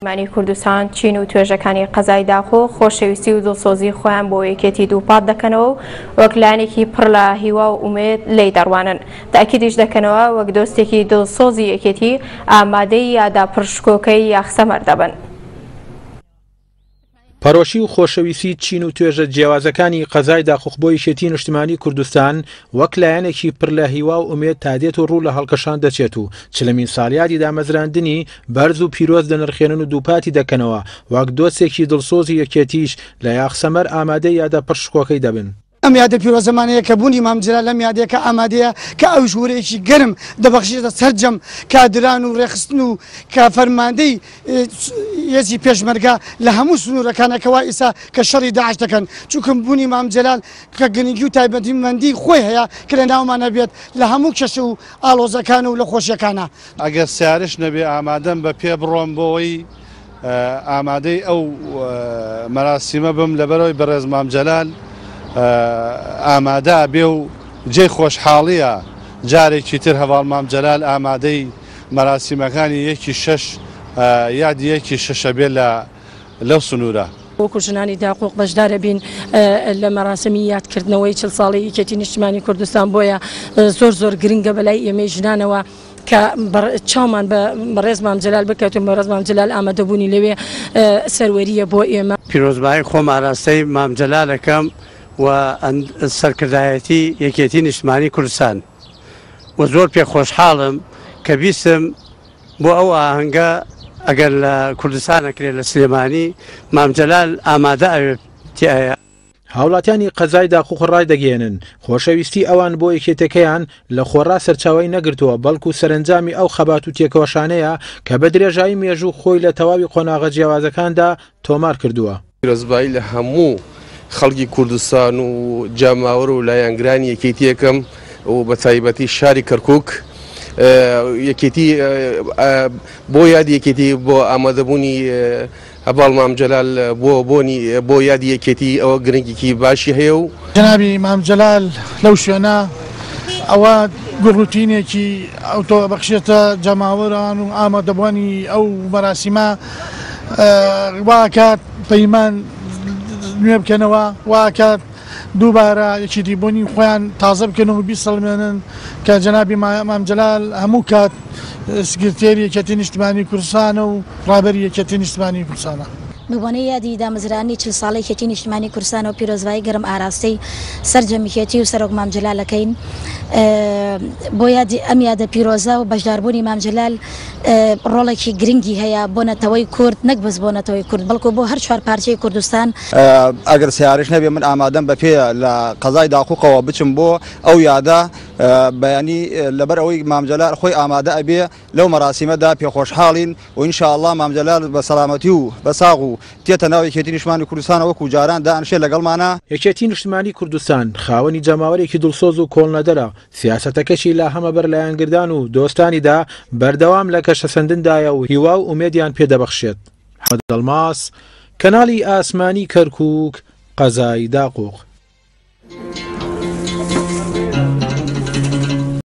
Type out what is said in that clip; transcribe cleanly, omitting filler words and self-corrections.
نیشتمانی کوردستان چین و توێژەکانی قەزای داخۆ خۆشەویستی و دڵسۆزی خۆیان بۆ یەکێتی دووپات دەکەنەوە و وەک لایەنێکی پڕ لە هیوا و ئومێد لێی دەڕوانن. تەئکیدیش دەکەنەوە وەک دۆستێکی دڵسۆزی یەکێتی ئامادەی یادە پڕ شکۆکەی یاخسەمەر دەبن. پەرۆشی و خۆشەویستی چین و توێژە جیاوازەکانی قەزای داقوق بۆ یەکێتی نیشتمانی کوردستان وەک لایەنێکی پر لە هیوا و ئومێد تا دێت و ڕوو لە هەڵکشان دەچێت و چلەمین ساڵیادی دامەزراندنی بەرز و پیرۆز دەنرخێنن و دووپاتی دەکەنەوە وەک دۆستێکی دڵسۆزی یەکێتیش لە یاخسەمەر ئامادەی یادە پڕ شکۆکەی دەبن. ئەم یادە پیرۆزەمانەیە کە بوونی مام جەلال لەم یادەیە کە ئامادەیە کە ئەویش ورەیەکی گەرم دەبەخشێتە سەرجەم کادران و ڕێکخستن و کە فەرماندەی هێزی پێشمەرگە لە هەموو سنوورەکانە کە وا ئیسا کە شەڕی داعش دەکەن چونکە بوونی مام جەلال کە گرنگی و تایبەتمەندی خۆی هەیە کە لە ناومان هەبێت لە هەموو کێشە و ئاڵۆزەکان و لە خۆشیەکانە. ئەگەر سەیارەش نەبێ ئامادەم بە پێ بڕۆم بۆ ئەوەی ئامادەی ئەو مەراسیمە بم لەبەرئەوەی بەڕێز مام جەلال ئامادە بێ و جێی خۆشحاڵیە جارێکی تر هەڤاڵ مام جەلال ئامادەی مەراسیمەکانی یەکی شەش یادی یەکی شەشە بێ لە لەو سنوورە. وەکو ژنانی داقوق بەشدارەبین لە مەراسمی یادکردنەوەی 40 ساڵەی یەکێتی نیشتمانی کوردستان، بۆیە زۆر زۆر گرنگە بەلای ئێمەی ژنانەوە کە چاومان بە بەڕێز مام جەلال بکەوێت و بەڕێز مام جەلال ئامادەبوونی لەوێ سەروەریە بۆ ئێمە. پیرۆزبایی خۆم ئاراستەی مام جەلال ئەکەم و سەرکردایەتی یەکێتی نیشتمانی کوردستان و زۆر پێ خۆشحاڵم کە بیستم بۆ ئەو ئاهەنگە ئەگەر لە کوردستان ئەکرێت لە سلێمانی مام جەلال ئامادە ئەوێ تیایە. هاوڵاتیانی قەزای داقوق ڕایدەگەیەنن، خۆشەویستی ئەوان بۆ یەکێتیەکەیان لە خۆڕا سەرچاوەی نەگرتووە، بەڵکو سەرەنجامی ئەو خەبات و تێکۆشانەیە کە بە درێژایی مێژوو خۆی لە تەواوی قۆناغە جیاوازەکاندا تۆمار کردووە. پیرۆزبایی لە هەموو خەڵکی کوردستان و جەماوەر و لایەنگرانی یەکێتی ئەکەم و بە تایبەتی شاری کەرکوک یەکێتی بۆ یادی یەکێتی بۆ ئامادەبوونی هەڤاڵ مام جەلال بۆ بۆنی بۆ یادی یەکێتی ئەوە گرنگیکی باشی هەیە و. جەنابی مام جەلال لەو شوێنە ئەوە گوڕوتینێکی ئەوتۆ ئەبەخشێتە جەماوەران و ئامادەبوانی ئەو مەراسیمە وا ئەکات پەیمان نوێ بکەنەوە وا ئەکات دووبارە یەکێتی بوونی خۆیان تازە بکەن و بیسەلمێنن کە جەنابی مام جەلال هەموو کات سکرتێری یەکێتی نیشتمانی کوردستانە و ڕابەری یەکێتی نیشتمانی کوردستانە. بەبۆنەی یادی دامەزراندنی 40 ساڵەی یەکێتی نیشتمانی کوردستانەوە پیرۆزبایی گەرم ئاراستەی سەرجەم یەکێتی و سەرۆک مام جەلال ئەکەین بۆ یادی ئەم یادە پیرۆزە و بەشداربوونی مام جەلال ڕۆڵێکی گرنگی هەیە بۆ نەتەوەی کورد نەک بەس بۆ نەتەوەی کورد بەڵکو بۆ هەر چوار پارچەی کوردستان. ئەگەر سەیارەش نەبێ من ئامادەم بە پێ لە قەزای داقوقەوە بچم بۆ ئەو یادە بەیانی لەبەر ئەوەی مام جەلال خۆی ئامادە ئەبێ لەو مەراسیمەدا پێخۆشحاڵین و ان شاء اللە مام جەلال بە سەلامەتی و بە ساغ و تێتە ناو یەکێتی نیشتمانی کوردستانە وەکو جاران دائەنشێ لەگەڵمانا. یەکێتی نیشتمانی کوردستان خاوەنی جەماوەرێکی دڵسۆز و کۆڵنەدەرە، سیاسەتەکەشی لە هەمەبەر لایەنگردان و دۆستانیدا بەردەوام لە گەشەسەندندایە و هیوا و ئومێدیان پێ دەبەخشێت. محەمەد ئەڵماس، کەناڵی ئاسمانی کەرکووک، قەزای داقوق.